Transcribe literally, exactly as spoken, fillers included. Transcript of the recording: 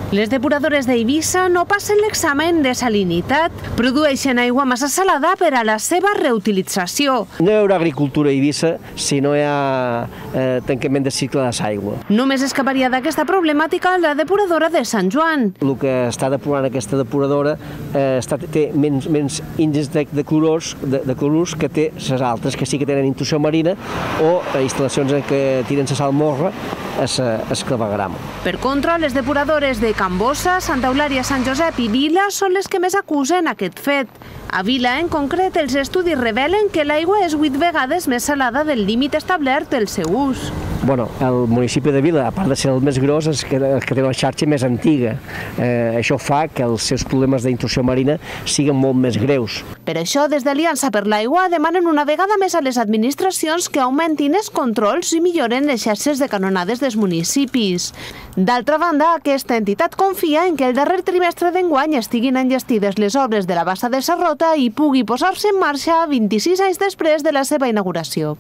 Les depuradores d'Eivissa no passen l'examen de salinitat. Produeixen aigua massa salada per a la seva reutilització. No hi haurà agricultura a Eivissa si no hi ha eh, tancament de cicle de l'aigua. Només escaparia d'aquesta problemàtica la depuradora de Sant Joan. El que està depurant aquesta depuradora eh, està, té menys, menys índex de, de, clorurs, de, de clorurs que té les altres, que sí que tenen intrusió marina o eh, instal·lacions en què tiren la salmorra a el clavegram. Per contra, les depuradores de Can Bossa, Santa Eulària, Sant Josep i Vila són les que més acusen aquest fet. A Vila, en concret, els estudis revelen que l'aigua és vuit vegades més salada del límit establert pel seu ús. Bueno, el municipi de Vila, a part de ser el més gros, és que, el que té la xarxa més antiga. Eh, això fa que els seus problemes d'intrusió marina siguin molt més greus. Per això, des d'Aliança per l'Aigua demanen una vegada més a les administracions que augmentin els controls i milloren les xarxes de canonades dels municipis. D'altra banda, aquesta entitat confia en que el darrer trimestre d'enguany estiguin enllestides les obres de la bassa de Sarrota i pugui posar-se en marxa vint-i-sis anys després de la seva inauguració.